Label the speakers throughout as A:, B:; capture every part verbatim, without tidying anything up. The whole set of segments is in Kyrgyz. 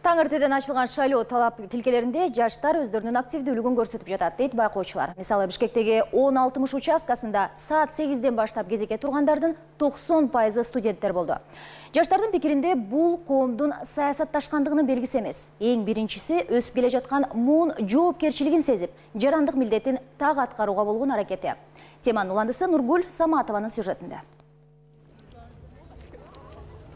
A: Таң эртеден ачылган шайлоо талап тилкелеринде жаштар өздөрүнүн активдүүлүгүн көрсөтүп жатат, дейт байкоочулар. Мисалы, Бишкектеги он алтымыш участкасында саат сегизден баштап кезекке тургандардын токсон пайызы студенттер болду. Жаштардын пикиринде бул коомдун саясатташкандыгынын белгиси эмес. Эң биринчиси өсүп келе жаткан муун жоопкерчилигин сезип, жарандык милдетин так аткарууга болгон аракети. Теманын уландысы Нургул Саматованын сюжетинде.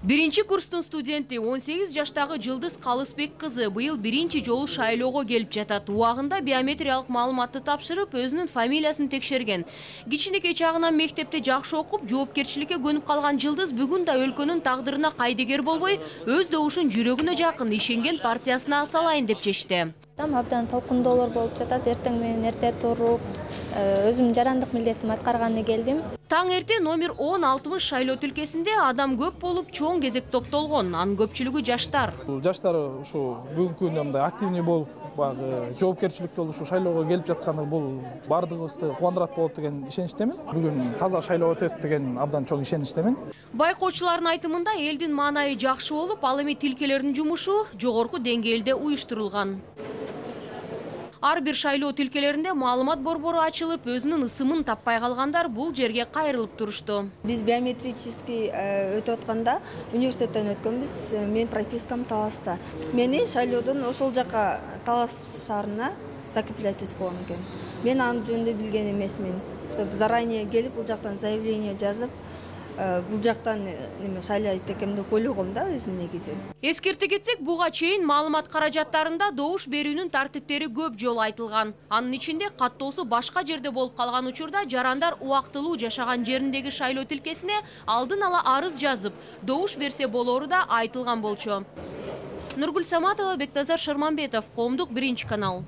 B: Биринчи курстун студенти он сегиз жаштагы Жылдыз Калысбек кызы быйыл биринчи жолу шайлоого келип жатат. Убагында биометриялык маалыматты тапшырып, өзүнүн фамилиясын текшерген. Кичинекей чагынан мектепте жакшы окуп, жоопкерчиликке көнүп калган Жылдыз бүгүн да өлкөнүн тагдырына кайдыгер болбой, өз добушун жүрөгүнө жакын ишенген партиясына салайын деп чечти.
C: Абдан толкундоолор болуп жатат. Эртең менен эрте туруп, өзүм жарандык милдетимди аткарганы келдим.
B: Таң эрте номер он алтымыш шайлоо тилкесинде адам көп болуп, чоң кезек топтолгон. Анын көпчүлүгү жаштар.
D: Жаштар ушу бүгүнкү күндө мындай активный болуп, баягы жоопкерчиликтүү ушу шайлоого келип жатканы бул бардыгыбызды кубандырат болот деген ишеничтемин. Бүгүн таза шайлоо өтөт деген абдан чоң ишеничтемин.
B: Байкоочулардын айтымында элдин маанайы жакшы болуп, ал эми тилкелердин жумушу жогорку деңгээлде уюштурулган. Ар бир шайлоо тилкелеринде маалымат борбору ачылып, өзүнүн ысымын таппай калгандар бул жерге кайрылып турушту.
E: Биз биометрический өтүп атканда университеттен өткөнбүз. Мен пропискам Таласта. Мени шайлоодон ошол жака Талас шаарына закреплять этип койгон экен. Мен аны жөнүндө билген эмесмин. Чтобы заранее келип бул жактан заявление жазып, бул жактан неме шайлайт экем деп ойлогом да өзүм негизи.
B: Эскерте кетсек, буга чейин маалымат каражаттарында добуш берүүнүн тартиптери көп жолу айтылган. Анын ичинде каттоосу башка жерде болуп калган учурда жарандар убактылуу жашаган жериндеги шайлоо тилкесине алдын ала арыз жазып, добуш берсе болору да айтылган болчу. Нургул Саматова, Бекназар Шарманбетов, Коомдук биринчи канал.